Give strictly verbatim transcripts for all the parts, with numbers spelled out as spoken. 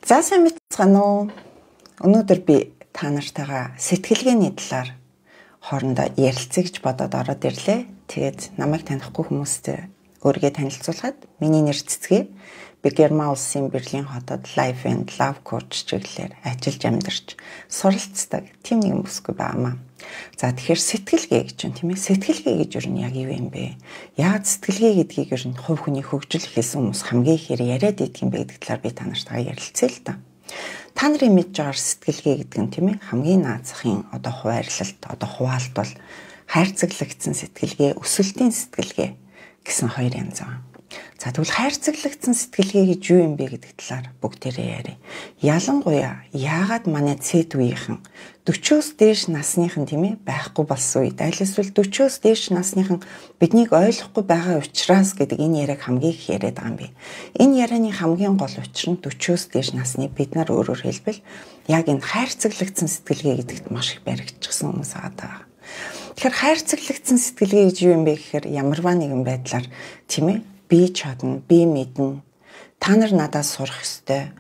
За сайн мэдцгаана уу? Өнөөдөр би та нартайгаа сэтгэлгээний талаар хоорондоо ярилцъя гэж бодоод ороод ирлээ. Тэгээд намайг танихгүй хүмүүст өөрийгөө танилцуулахад миний нэр Цэцгээ. Би Герман улсын Берлин хотод Life and Love Coach чиглэлээр ажиллаж амьдарч суралцдаг тийм нэг бүсгүй байнамаа. За тэгэхээр сэтгэлгээ гэж юм тийм ээ. Сэтгэлгээ гэж юу нь яг юу юм бэ? Яг сэтгэлгээ гэдгийг ер нь хувь хүний хөгжил хэлсэн хүмүүс хамгийн ихээр яриад идэх юм бэ гэдэг талаар би та нартайгаа ярилцъя л та. Та нарын мэдж байгаа сэтгэлгээ гэдэг нь тийм ээ хамгийн наазахын одоо хуваарлалт, одоо хуваалт бол хайрцаглагдсан сэтгэлгээ, өсөлтийн сэтгэлгээ гэсэн хоёр янз байна. За тэгвэл хайрцаглагдсан сэтгэлгээ гэж юу юм бэ гэдэг талаар бүгдээрээ ярив. Ялангуяа яагаад манай цэд үеийнхэн дөрвөөс дээш насныхан тийм ээ байхгүй болсон үед аль эсвэл дөрвөөс дээш насныхан биднийг ойлгохгүй байгаа учраас гэдэг энэ яриаг хамгийн их яриад байгаа юм бэ. Энэ ярианы хамгийн гол учир нь дөрвөөс дээш насны бид нар өөрөөр хэлбэл яг энэ хайрцаглагдсан сэтгэлгээ гэдэгт маш их баригдчихсан хүмүүс байгаа. Тэгэхээр хайрцаглагдсан сэтгэлгээ гэж юу юм бэ гэхээр ямарваа нэгэн байдлаар тийм ээ би чадна, би мэднэ. Та нар надаас сурах ёстой.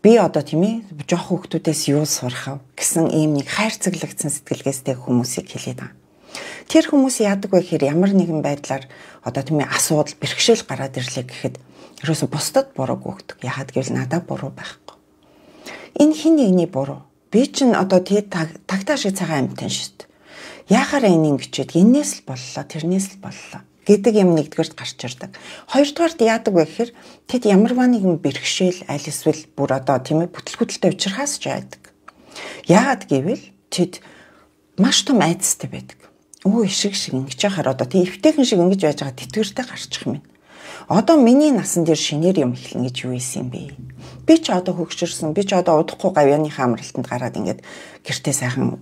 Би одоо тийм ээ жоох хүүхдүүдээс юу сурах вэ гэсэн ийм нэг хайрцаглагдсан сэтгэлгээстэй хүмүүсийг хэлээд байгаа. Тэр хүмүүс яадаг вэ гэхээр ямар нэгэн байдлаар одоо тийм ээ асуудал, бэрхшээл гараад ирлээ гэхэд ерөөсө бусдад бурууг өгдөг. Яагаад гэвэл надад буруу байхгүй. Энэ хин нэгний буруу. Би чинь одоо тий тагтаа шиг цагаан амьтан шүү дээ. Яахаараа энэ ингэчээд энээс л боллоо, тэрнээс л боллоо гэдэг юм нэгдүгээрт гарч ирдэг. Хоёрдугаарт яадаг вэ гэхээр тэд ямарваа нэгэн бэрхшээл аль эсвэл бүр одоо тийм ээ бүтлгүүтэлтэй уучрахаас ч яадаг. Яагаад гэвэл тэд маш том айдастай байдаг. Өө ишиг шиг ингэж яхаар одоо тийм эвтэйхэн шиг ингэж байж байгаа тэтгэвртэй гарчих юм байна. Одоо миний насан дээр шинээр юм эхлэн гэж юу ийсэн юм бэ? Би ч одоо хөгшөрсөн, би ч одоо удахгүй гавьяаныхаа амралтанд гараад ингээд гэртээ сайхан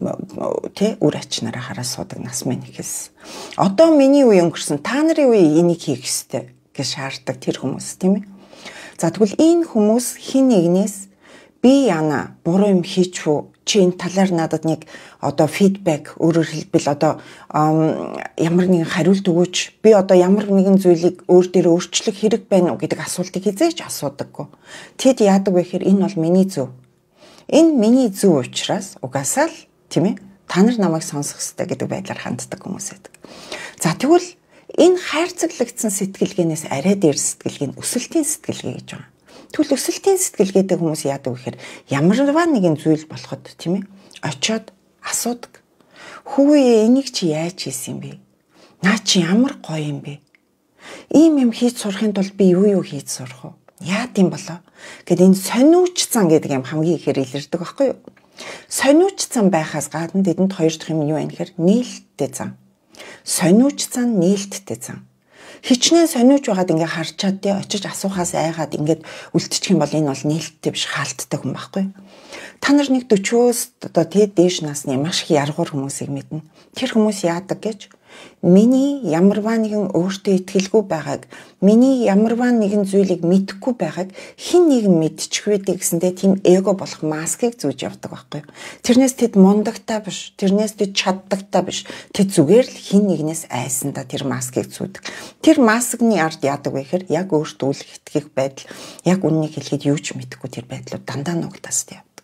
тий үр ачнараа хараа суудаг нас минь ихэлсэн. Одоо миний үе өнгөрсөн, та нарын үе энийг хийх ёстой гэж шаарддаг тэр хүмүүс тийм ээ. За тэгвэл энэ хүмүүс хин нэгнээс би яана буруу юм хийчихв чи энэ талаар надад нэг одоо фидбек өөрөөр хэлбэл одоо ямар нэгэн хариулт өгөөч би одоо ямар нэгэн зүйлийг өөр дээр өөрчлөх хэрэг байна уу гэдэг асуултыг хизээч асуудаггүй. Тэд яадаг вэ гэхээр энэ бол миний зөв. Энэ миний зөв учраас угаасаа л тийм ээ та нар намайг сонсох ёстой гэдэг байдлаар ханддаг хүмүүс байдаг. За тэгвэл энэ хайрцаглагдсан сэтгэлгээнээс арай дээр сэтгэлгээ нь өсөлтийн сэтгэлгээ гэж байна. Тэгвэл өсөлтийн сэтгэлгээтэй хүмүүс яадаг вэ гэхээр ямарваа нэгэн зүйл болоход тийм ээ очиод асуудаг. Хүүе энийг чи яаж хийсэн юм бэ? Наа чи ямар гоё юм бэ? Ийм юм хийж сурахын тулд би юу юу хийж сурах вэ? Яад юм болоо? Гэт энэ сониуч цан гэдэг юм хамгийн ихээр илэрдэг байхгүй юу? Сониуч цан байхаас гадна тэдэнд хоёр дахь юм юу вэ гэхээр нээлттэй цан. Сониуч цан, нээлттэй цан. Хичнээн сониуч байгаад ингээ харчаад тий очиж асуухаас айгаад ингээд үлдчих юм бол энэ бол нээлттэй биш хаалттай хүн байхгүй. Та нар нэг дөрвөөс одоо тий дээш насны маш их яргуур хүмүүсийг мэднэ. Тэр хүмүүс яадаг гэж миний ямарваа нэгэн өөртөө итгэлгүй байгааг, миний ямарваа нэгэн зүйлийг мэдэхгүй байгааг хэн нэгэн мэдчих вэ гэсэндээ тийм эго болох маскыг зүүж явдаг байхгүй. Тэрнээс тэд мундагтай биш, тэрнээс тэд чаддагтай биш. Тэд зүгээр л хэн нэгнээс айсандаа тэр маскыг зүүдэг. Тэр маскны ард яадаг вэ гэхээр яг өөртөө үл итгэх байдал, яг үннийг хэлэхэд юу ч мэдэхгүй тэр байдлууд дандаа нугтаастай явдаг.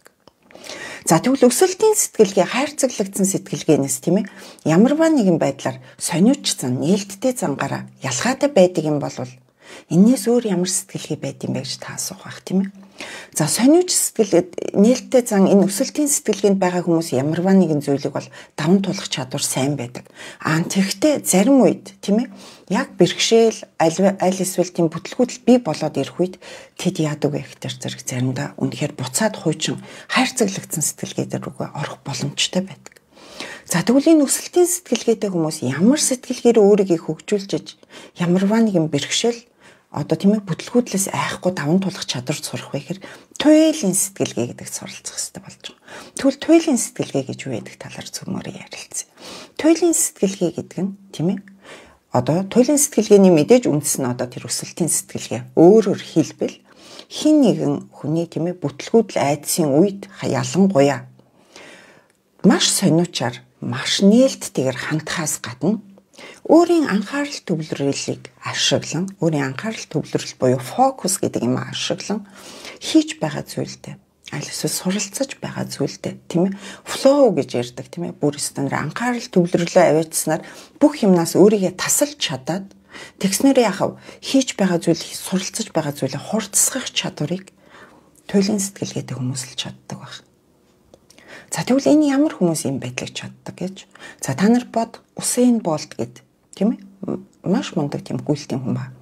За тэгвэл өсөлтийн сэтгэлгээ хайрцаглагдсан сэтгэлгээнээс тийм ээ ямарваа нэгэн байдлаар сониуч цан нээлттэй цангаараа ялгаатай байдаг юм бол энээс өөр ямар сэтгэлгээ байд юм бэ гэж та асуух байх тийм ээ. За сониуч сэтгэлгээд нээлттэй цан энэ өсөлтийн сэтгэлгээнд байгаа хүмүүс ямарваа нэгэн зүйлийг бол даван тулах чадвар сайн байдаг. Аа тэгвэл зарим үед тийм ээ яг бэрхшээл аль эсвэл тийм бүтлгүүтэл бий болоод ирэх үед тэд яадаг вэ гэхтэр зэрэг заримдаа үнэхээр буцаад хуучин хайрцаглагдсан сэтгэлгээдэр рүүгээ орох боломжтой байдаг. За тэгвэл энэ өсөлтийн сэтгэлгээтэй хүмүүс ямар сэтгэлгээр өөрийгөө хөгжүүлж ямарваа нэгэн бэрхшээл одоо тийм ээ бүтлгүүтлээс айхгүй даван тулах чадвар сурах вэ гэхээр туйлын сэтгэлгээ гэдэгт суралцах хэрэгтэй болж байгаа. Тэгвэл туйлын сэтгэлгээ гэж юу гэдэг талаар зөвмөр ярилцъя. Туйлын сэтгэлгээ гэдэг нь тийм ээ одоо туйлын сэтгэлгээний мэдээж үндэс нь одоо тэр өсөлтийн сэтгэлгээ. Өөрөөр хэлбэл хин нэгэн хүний тийм ээ бүтлгүүдл айдсын үед ялангуяа маш сониучаар маш нээлттэйгээр хандхаас гадна өөрийн анхаарал төвлөрөлийг ашиглан, өөрийн анхаарал төвлөрөл буюу фокус гэдэг юм ашиглан хийж байгаа зүйлдээ аль эсвэл суралцаж байгаа зүйлдээ тийм ээ флоу гэж ярьдаг тийм ээ бүр стандар анхаарал төвлөрөлөө аваачснаар бүх юмнаас өөрийгөө тасалж чадаад тэгснээрээ яхав хийж байгаа зүйл суралцаж байгаа зүйлээ хурцсгах чадварыг туйлын сэтгэлгээтэй хүмүүс л чаддаг баг. За тэгвэл энэ ямар хүмүүс юм байдлыг чаддаг гэж. За та нар бод Усейн Болт гэд тийм ээ маш мундаг тийм гүйлтийн хүн ба.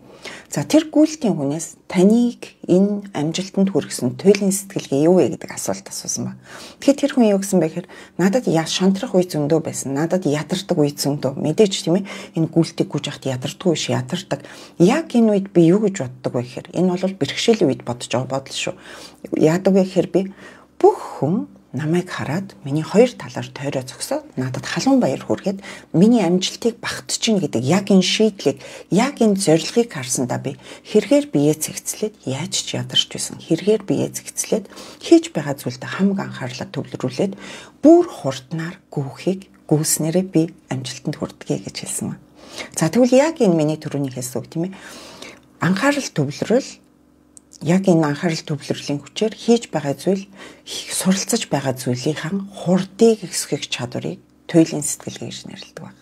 За тэр гүйлтийн хүнээс таныг энэ амжилтанд хүргэсэн туйлын сэтгэлгээ юу вэ гэдэг асуулт асуусан ба. Тэгэхээр тэр хүн юу гэсэн бэ гэхээр надад шантрах үе зөндөө байсан. Надад ядардаг үе зөндөө. Мэдээж тийм ээ энэ гүйлтийг гүйж ахт ядарддаг биш ядардаг. Яг энэ үед би юу гэж боддог вэ гэхээр энэ бол бэрхшээлийн үед бодож байгаа бодол шүү. Яадаг вэ гэхээр би бүх хүн намайг хараад миний хоёр талаар тойроо зогсоод надад халуун баяр хүргээд миний амжилтыг багтж чинь гэдэг яг энэ шийдлийг яг энэ зорилгыг харсандаа би хэрэгээр биеэ цэгцлээд яаж ч ядарч байсан хэрэгээр биеэ цэгцлээд хийж байгаа зүйлдээ хамаг анхаарлаа төвлөрүүлээд бүр хурднаар гүөхийг гүйснээрээ би амжилтанд хүрдэгэ гэж хэлсэн ба. За тэгвэл яг энэ миний түрүүний хэлсэн үг тийм ээ анхаарал төвлөрөл яг энэ анхаарал төвлөрлийн хүчээр хийж байгаа зүйл суралцаж байгаа зүйлийн хурдыг ихсгэх чадварыг туйлын сэтгэлгээ гэж нэрлэдэг байна.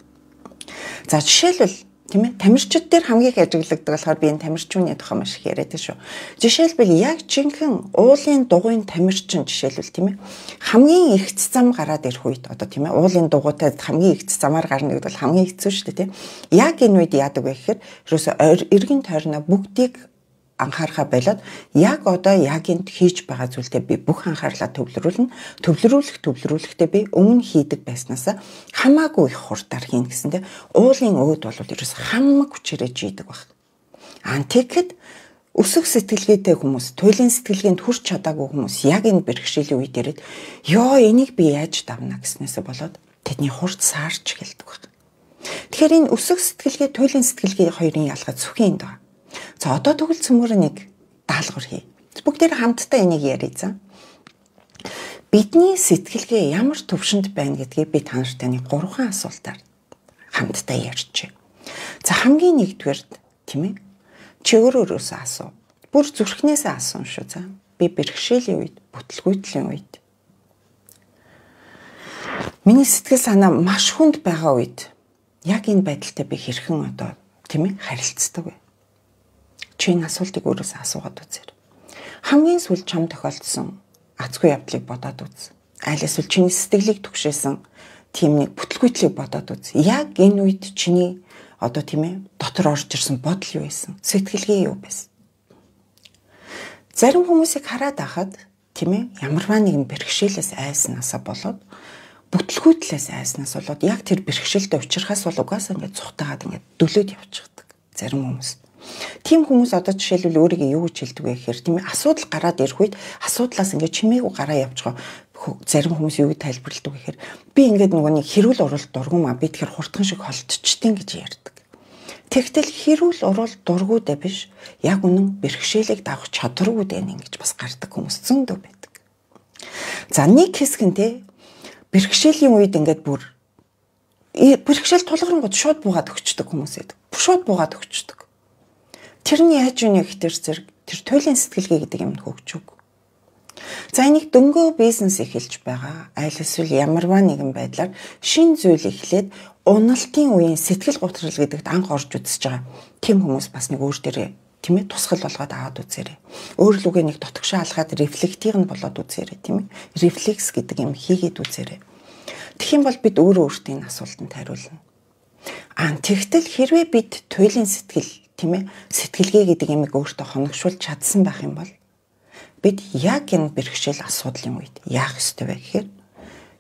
За жишээлбэл тийм ээ тамирчид дээр хамгийн их ажиглагддаг болохоор би энэ тамирчууны тухай маш их яриад шүү. Жишээлбэл яг жинхэнэ уулын дугуйн тамирчин жишээлбэл тийм ээ хамгийн их зам гараад ирэх үед одоо тийм ээ уулын дугуйтай хамгийн их замаар гарна гэдэг бол хамгийн хэцүү шүү дээ тийм. Яг энэ үед яадаг вэ гэхээр ерөөсө эргэн тойрноо бүгдийг анхаарахаа болоод яг одоо яг энд хийж байгаа зүйлдээ би бүх анхаарлаа төвлөрүүлнэ. Төвлөрүүлэх төвлөрүүлэхдээ би өмнө хийдэг байснаас хамаагүй их хурдаар хийн гэсэндээ уулын өөд бол ерөөс хамаг хүчээрээ жийдэг баг. Антикэд өсөх сэтгэлгээтэй хүмүүс, туйлын сэтгэлгээнд хүрч чадаагүй хүмүүс яг энэ бэрхшээлийн үед ирээд ёо энийг би яаж давна гэснээсээ болоод тэдний хурд саарч эхэлдэг баг. Тэгэхээр энэ өсөх сэтгэлгээ, туйлын сэтгэлгээ хоёрын ялгаа зөвхөн энд байна. За одоо тэгвэл цөмөр нэг даалгавар хий. Бүгдээр хамтдаа энийг ярий за. Бидний сэтгэлгээ ямар төвшөнд байна гэдгийг би та нарт таны гурван асуултаар хамтдаа ярьчих. За хамгийн нэгдүгээрт тийм ээ. Чи өөрөөсөө асуу. Бүр зүрхнээсээ асуун шүү за. Би бэрхшээлийн үед, бүтлгүйтлийн үед. Миний сэтгэл санаа маш хүнд байгаа үед яг энэ байдалтай би хэрхэн одоо тийм ээ харилцдаг вэ? Чи энэ асуултыг өөрөөсөө асуугаад үзээр. Хамгийн сүүл чам тохиолдсон азгүй явдлыг бодоод үз. Аль эсвэл чиний сэтгэлийг түгшээсэн тийм нэг бүтлгүйтлийг бодоод үз. Яг энэ үед чиний одоо тийм ээ дотор орж ирсэн бодол юу байсан? Сэтгэлгээ юу байсан? Зарим хүмүүсийг хараад байхад тийм ээ ямарваа нэгэн бэрхшээлээс айснаасаа болоод бүтлгүйтлээс айснаас болоод яг тэр бэрхшээлтэй учрахаас бол угаасаа ингээд цухтаагаад ингээд дөлөөд явчихдаг зарим хүмүүс. Тим хүмүүс одоо жишээлбэл өөрийгөө юу гэж хэлдэг вэ гэхээр тийм ээ асуудал гараад ирэх үед асуудлаас ингээд чимээгүй гараа явж байгаа зарим хүмүүс юу гэж тайлбарладаг вэ гэхээр би ингээд нөгөө нэг хэрүүл уралд дургуумаа би тэгэхээр хурдхан шиг холдчихтیں гэж ярьдаг. Тэгтэл хэрүүл уралд дургуудаа биш яг үнэн бэрхшээлийг давах чадваргүй дээ ингэж бас гардаг хүмүүс зөндөө байдаг. За нэг хэсэг нь те бэрхшээлийн үед ингээд бүр бэрхшээл тулгарнгууд шууд буугаад өгчдөг хүмүүс байдаг. Шууд буугаад өгчдөг. Тэрний яаж юунэ гэхтэр зэрэг тэр туйлын сэтгэлгээ гэдэг юмд хөгжөг. За энийг дөнгөө бизнес эхэлж байгаа. Аль эсвэл ямарваа нэгэн байдлаар шин зүйл эхлээд уналтын үеийн сэтгэл готрол гэдэгт анх орж үзэж байгаа. Тэм хүмүүс бас нэг өөр дээрээ тийм ээ тусгал болгоод аваад үзээрэй. Өөр лүгээ нэг дотгошоо алгаад рефлектийг нь болоод үзээрэй тийм ээ. Рефлекс гэдэг юм хийгээд үзээрэй. Тэгэх юм бол бид өөрөө өөртөө энэ асуултанд хариулна. Аа тэгтэл хэрвээ бид туйлын сэтгэл тийм ээ сэтгэлгээ гэдэг юмыг өөртөө хоногшуулж чадсан байх юм бол бид яг энэ бэрхшээл асуудлын үед яах ёстой вэ гэхээр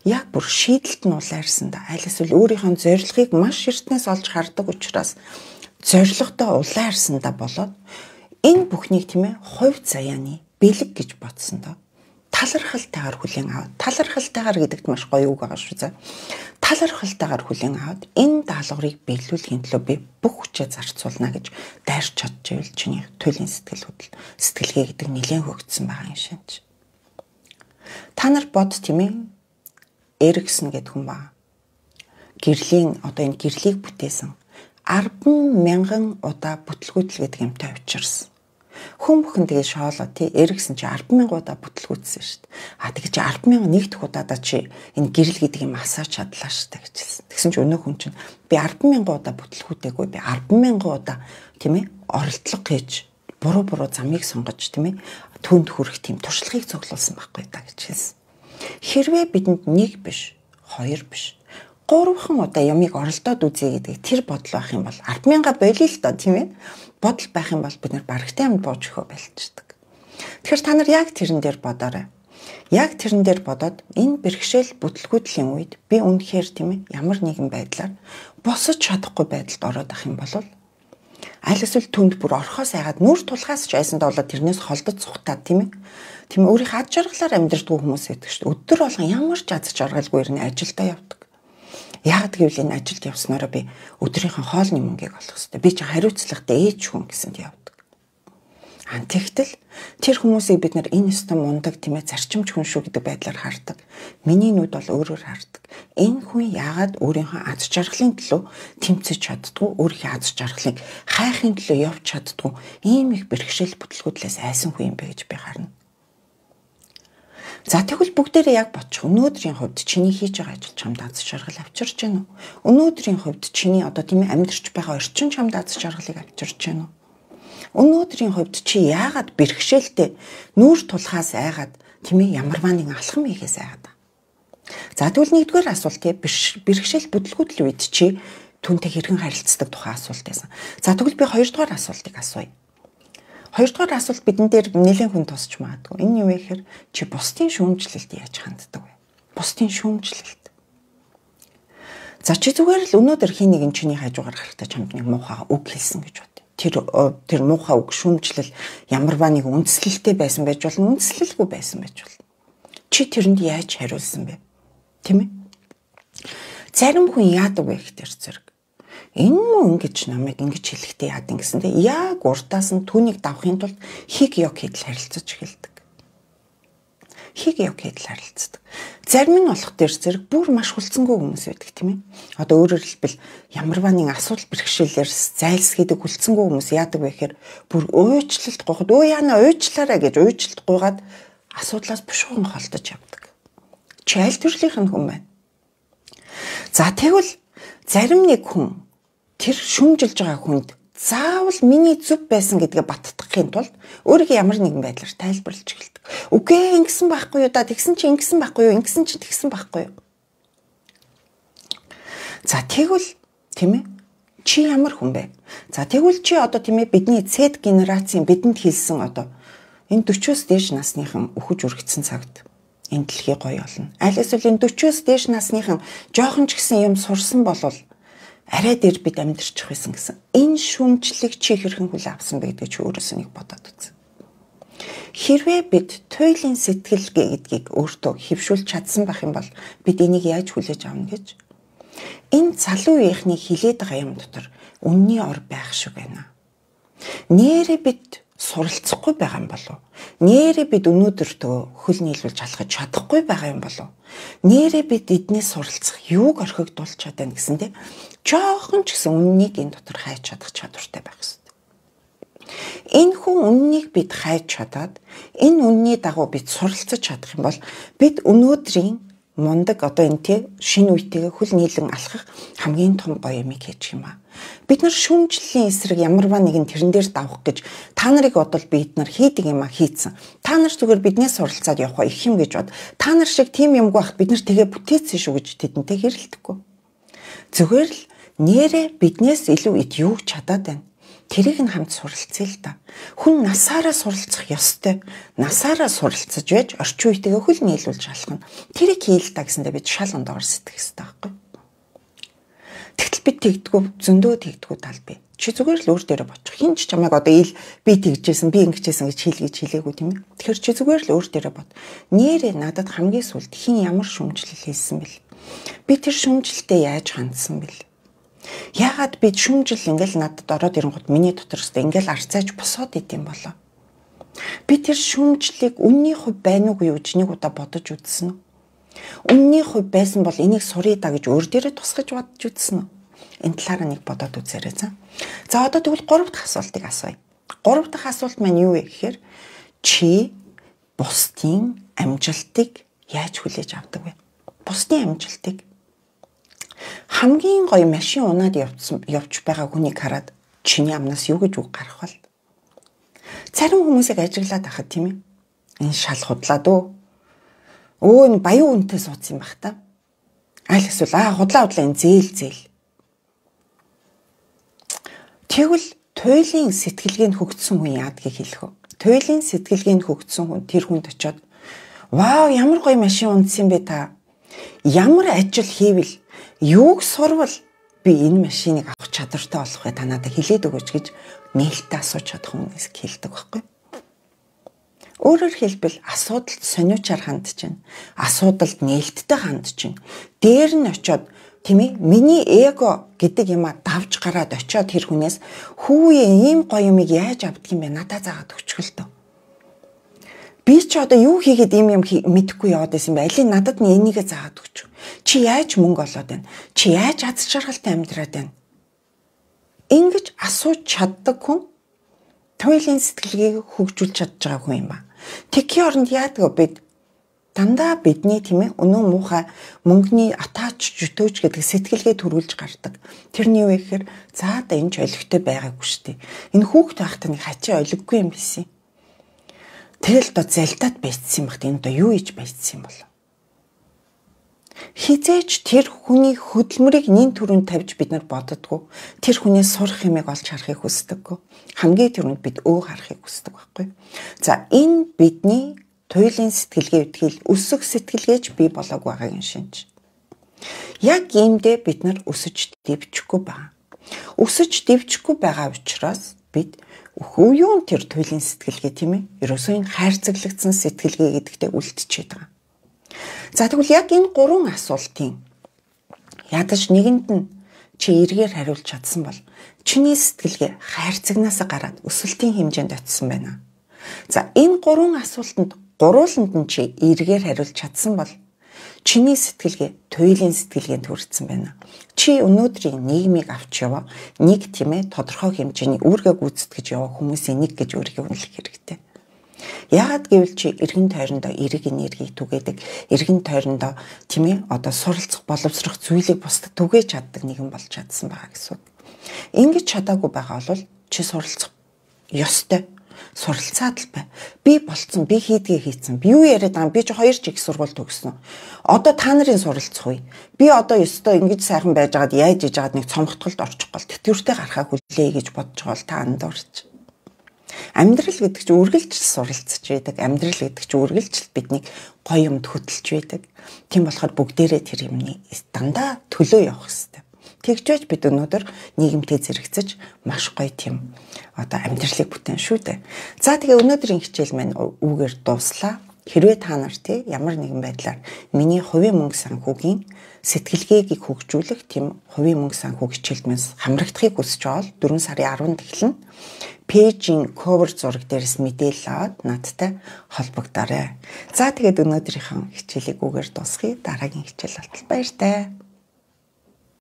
яг бүр шийдэлт нь улайрсандаа аль эсвэл өөрийнхөө зорилгыг маш эртнээс олж хардаг учраас зорилготой улайрсандаа болоод энэ бүхнийг тийм ээ хувь заяаны бэлэг гэж бодсондоо талархалтайгаар хүлээн аваад талархалтайгаар гэдэгт маш гоё үг байгаа шүү за. Талархалтайгаар хүлээн аваад энэ даалгаврыг биелүүлэхийн төлөө би бүх хүчээ зарцуулна гэж дайрч чадчихвэл чиний туйлын сэтгэл хөдлөл сэтгэлгээ гэдэг нэлээд хөгжсөн байгаа юм шинж. Та нар бод тийм ээ Эриксон гэдэг хүн ба. Гэрлийн одоо энэ гэрлийг бүтээсэн арван мянган удаа бүтлгүүтэл гэдэг юмтай учирсан. Хүн бүхэн тэгээ шоолоо тий эргэсэн чи арван мянган удаа бүтлгүүцсэн шүү дээ. А тэгээ чи арван мянган нэг дэх удаадаа чи энэ гэрэл гэдэг юм асааж чадлаа шүү дээ гэжэлсэн. Тэгсэн чи өнөө хүн чинь би арван мянган удаа бүтлгүүтэйгүй би арван мянган удаа тийм ээ оролдлого хийж буруу буруу замыг сонгож тийм ээ түнд хүрэх тийм туршлагыг цуглуулсан байхгүй та гэж хэлсэн. Хэрвээ бидэнд нэг биш, хоёр биш, гурван удаа ямыг оролдоод үзье гэдэг тэр бодол байх юм бол арван мянга болиё л доо тийм ээ. Бодол байх юм бол бид нар барагтай амд бууж өгөө байлчдаг. Тэгэхээр та нар яг тэрэн дээр бодоорой. Яг тэрэн дээр бодоод энэ бэрхшээл бүтлгүүтлийн үед би үнэхээр тийм ээ ямар нэгэн байдлаар босож чадахгүй байдалд ороод ах юм бол аль эсвэл түнд бүр орхоос айгаад нүр тулгаас ч айсанд болоод тэрнээс холдож цухтаад тийм ээ. Тийм өөрийнхөө ад жаргалаар амьдрдаггүй хүмүүс байдаг шүү дээ. Өдөр болгон ямар ч аз жаргалгүй ирнэ ажилдаа явдаг. Яг гэвэл энэ ажилд явснараа би өдрийнхөө хоолны мөнгийг олох хэрэгтэй. Би ч хариуцлагатай ээж хүн гэсэнд явдаг. Аа тэгтэл тэр хүмүүсийг бид нар энэ өстө мундаг тийм ээ зарчимч хүн шүү гэдэг байдлаар хардаг. Миний нүд бол өөрөөр хардаг. Энэ хүн яагаад өөрийнхөө аз жаргалын төлөө тэмцэж чаддгүй, өөрийнхөө аз жаргалыг хайхын төлөө явж чаддгүй ийм их бэрхшээл бүтлгүүдлээс айсан хүн юм бэ гэж би харна. За тэгвэл бүгдээрээ яг бодчих. Өнөөдрийн хувьд чиний хийж байгаа ажил чамд аз жаргал авчирч байна уу? Өнөөдрийн хувьд чиний одоо тийм ээ амьдарч байгаа орчин чамд аз жаргалыг авчирч байна уу? Өнөөдрийн хувьд чи яагаад бэрхшээлтэй нүүр тулхаас айгаад тийм ээ ямарваа нэгэн алхам хийхээс айгаад. За тэгвэл нэгдүгээр асуулт тийм бэрхшээл бүтлгүүтлийн үед чи түнтэй хэрхэн харилцдаг тухай асуулт байсан. За тэгвэл би хоёрдугаар асуултыг асууя. Хоёрдугаар асуулт бидэн дээр нэлээд хүн тусч магадгүй. Энэ юу вэ гэхээр чи бусдын шүүмжлэлд яаж ханддаг вэ? Бусдын шүүмжлэлд. За чи зүгээр л өнөөдөр хий нэгэн чиний хажуугаар гарахтаа чамд нэг муухай үг хэлсэн гэж бод. Тэр тэр муухай үг шүүмжлэл ямарваа нэг үндслэлтэй байсан байж болно, үндслэлгүй байсан байж болно. Чи тэрэнд яаж хариулсан бэ? Тийм ээ? Зарим хүн яадаг вэ гэхээр зэрэг энэ мөн ингэж намайг ингэж хэлэхдээ яадаг гэсэндээ яг урдаас нь түүнийг давахын тулд хиг ёг хийдэл харилцаж эхэлдэг. Хиг ёг хийдэл харилцдаг. Зарим нь болох дээр зэрэг бүр маш хүлцэнгүй хүмүүс байдаг тийм ээ. Одоо өөрөөр хэлбэл ямарваа нэг асуудал бэрхшээлээр зайлсхийдэг хүлцэнгүй хүмүүс яадаг вэ гэхээр бүр уучлалт гоход өө яана уучлаарай гэж уучлалт гуйгаад асуудлаас бушуухан холдож явдаг. Чи аль төрлийн хүн байна? За тэгвэл зарим нэг хүн тэр шүмжилж байгаа хүнд заавал миний зүв байсан гэдгээ баттгахын тулд өөрийгөө ямар нэгэн байдлаар тайлбарлаж эхэлдэг. Үгүй ингэсэн байхгүй юу да тэгсэн чи ингэсэн байхгүй юу ингэсэн чи тэгсэн байхгүй юу. За тэгвэл тийм ээ чи ямар хүн бэ? За тэгвэл чи одоо тийм ээ бидний Z генерацийн бидэнд хэлсэн одоо энэ дөрвөөс дээш насныхан өхөж үргэцсэн цагт энэ дэлхий гоё болно. Аль эсвэл энэ дөрвөөс дээш насныхан жоохон ч гэсэн юм сурсан болвол арай дээр бид амьдарчих байсан гэсэн. Энэ шүүмжлэлийг чи хэрхэн хүлээн авсан бэ гэдгийг чи өөрөөсөө нэг бодоод үз. Хэрвээ бид туйлын сэтгэлгээ гэдгийг өөртөө хэвшүүлж чадсан байх юм бол бид энийг яаж хүлээж авна гэж. Энэ залуу үеийнхний хилээд байгаа юм дотор үнний ор байх шиг байна. Нээрээ бид суралцахгүй байгаа юм болов. Нээрээ бид өнөөдөртөө хөл нийлүүлж алхаж чадахгүй байгаа юм болов. Нээрээ бид эднээс суралцах юуг орхигдуулж чадана гэсэндээ жоохон ч гэсэн үннийг энэ дотор хайж чадах чадвартай байх хэрэгтэй. Энэ хүн үннийг бид хайж чадаад энэ үнний дагуу бид суралцаж чадах юм бол бид өнөөдрийн мундаг одоо энэ тий шинэ үетэйгээ хөл нийлэн алхах хамгийн том гоё юмыг хийж юм аа. Бид нар шүүмжлэлийн эсрэг ямарваа нэгэн тэрэн дээр давах гэж та нарыг бодвол бид нар хийдэг юм а хийцэн. Та нар зүгээр биднээс суралцаад явах их юм гэж бод. Та нар шиг тийм юмгүй бахт бид нар тэгээ бүтээсэн шүү гэж тэдэнтэй хэрэлдэхгүй. Зүгээр л нэрээ биднээс илүү ид юу чадаад байна. Тэрийг нь хамт суралцъя л да. Хүн насаараа суралцах ёстой. Насаараа суралцаж байж орчин үетэйгээ хөл нийлүүлж алхах нь тэрийг хийл та гэсэндээ бид шал ондоор сэтгэх хэрэгтэй байхгүй. Тэгтэл бид тэгдэггүй зөндөө тэгдэггүй тал бий. Чи зүгээр л өөр дээрээ бочих. Хин ч чамайг одоо ил би тэгжсэн би ингэжсэн гэж хэлгэж хэлээгүй тийм ээ. Тэгэхээр чи зүгээр л өөр дээрээ бод. Нэрээ надад хамгийн сүлд хин ямар шүмжлэл хийсэн бэл. Би тэр шүмжлэлтэй яаж хандсан бэл. Яагаад бид шүмжил ингээл надад ороод ирэнгүүт миний дотор өстө ингээл арцааж босоод идэм болоо. Би тэр шүмжлийг үнний хувь байна уугүй юу гэж нэг удаа бодож үзсэн үү? Үнний хувь байсан бол энийг суръя да гэж өөр дээрээ тусгаж бодож үзсэн үү? Энэ талаараа нэг бодоод үзээрэй за. За одоо тэгвэл гурав дахь асуултыг асууя. Гурав дахь асуулт маань юу вэ гэхээр чи бусдын амжилтыг яаж хүлээж авдаг вэ? Бусдын амжилтыг хамгийн гоё машин унаад явсан явж байгаа хүнийг хараад чиний амнаас юу гэж үг гарах вэ? Зарим хүмүүсийг ажиглаад ахад тийм ээ. Энэ шал худлаад өө. Өө энэ баян үнэтэй суудсан юм бах та. Аль эсвэл аа худлаа худлаа энэ зээл зээл. Тэгвэл туйлын сэтгэлгээнд хөгжсөн хүн яадгийг хэлэх вэ? Туйлын сэтгэлгээнд хөгжсөн хүн тэр хүнд очиод вау ямар гоё машин унтсан бэ та. Ямар ажил хийвэл юуг сурвал би энэ машиныг авах чадвартай болох вэ та надад хэлээд өгөөч гэж нээлттэй асууж чадах хүмүүс хэлдэг байхгүй. Өөрөөр хэлбэл асуудалд сониучаар хандж чинь, асуудалд нээлттэй хандж чинь, дээр нь очиод тийм ээ миний эго гэдэг юм а давж гараад очиод тэр хүнээс хүүе ийм гоё юмыг яаж авдаг юм бэ надад заагаад өчгөл төө. Би ч одоо юу хийгээд ийм юм мэдэхгүй яваад байсан бэ? Алийг надад нь энийг заагаад өгч. Чи яаж мөнгө олоод байна? Чи яаж аз жаргалтай амьдраад байна? Ингэж асууж чаддаг хүн туйлын сэтгэлгээг хөгжүүлж чадж байгаа хүн юм ба. Тэгхийн оронд яадаг бид дандаа бидний тийм ээ өнөө муухай мөнгөний атаач жөтөөч гэдэг сэтгэлгээ төрүүлж гардаг. Тэрний юу гэхээр за да энэ ч олигтой байгаагүй шүү дээ. Энэ хүүхд байхдаа нэг хачаа олиггүй юм байсан. Тэгэл доо залдаад байцсан юм бахт энэ доо юу хийж байцсан юм бол. Хизээч тэр хүний хөдөлмөрийг нин түрүүнд тавьж бид нар боддоггүй. Тэр хүнээс сурах юмыг олж харахыг хүсдэггүй. Хамгийн түрүүнд бид өө харахыг хүсдэг байхгүй. За энэ бидний туйлын сэтгэлгээ үтгэл өсөх сэтгэлгээж бий болоогүй байгаагийн шинж. Яг иймдээ бид нар өсөж дэвчихгүй байна. Өсөж дэвчихгүй байгаа учраас бид үеүн тэр туйлын сэтгэлгээ тийм ээ. Ерөөсөө энэ хайрцаглагдсан сэтгэлгээ гэдэгтээ үлдчихэд байгаа. За тэгвэл яг энэ гурван асуултын ядаж нэгэнд нь чи эргээр хариулж чадсан бол чиний сэтгэлгээ хайрцагнаас гараад өсөлтийн хэмжээнд очисон байна. За энэ гурван асуултанд гурууланд нь чи эргээр хариулж чадсан бол чиний сэтгэлгээ туйлын сэтгэлгээнд хүрсэн байна. Чи өнөөдрийн нийгмийг авч яваа нэг тийм ээ тодорхой хэмжээний үүргээ гүйцэтгэж яваа хүмүүсийн нэг гэж өөрийгөө үнэлэх хэрэгтэй. Яагаад гэвэл чи эргэн тойрондоо эрэг энергийг түгээдэг, эргэн тойрондоо тийм ээ одоо суралцах, боловсрох зүйлийг бусдад түгээж чаддаг нэгэн болж чадсан байгаа гэсэн. Ингэж чадаагүй байгаа бол чи суралцах ёстой. Суралцаад л бай. Би болцсон, би хийдгээ хийцэн. Би юу яриад байгаа юм? Би ч хоёр ч их сургууль төгссөн. Одоо та нарын суралцах үе. Би одоо ёстой ингэж сайхан байж байгаад яаж иж байгаад нэг цомгтголд орчих гол тэтгэвртэй гарахаа хүлээе гэж бодож байгаа бол та андуурч. Амьдрал гэдэг чинь үргэлжил суралцж байдаг. Амьдрал гэдэг чинь үргэлжил биднийг гоё юмд хөтлж байдаг. Тийм болохоор бүгдээрээ тэр юмны дандаа төлөө явах хэрэгтэй. Тэгжээж бид өнөөдөр нийгэмтэй зэрэгцэж маш гоё тийм одоо амьдралыг бүтээн шүү дээ. За тэгээ өнөөдрийн хичээл маань үүгээр дууслаа. Хэрвээ та нар тий ямар нэгэн байдлаар миний хувийн мөнгө санхүүгийн сэтгэлгээгийг хөгжүүлэх тийм хувийн мөнгө санхүү хичээлмээс хамрагдахыг хүсэж байгаа бол дөрвөн сарын арванд эхлэн пэйжийн cover зураг дээрээс мэдээлэл аваад надтай холбогдорой. За тэгээд өнөөдрийнхөө хичээлийг үгээр дуусгая. Дараагийн хичээл болтол баяртай.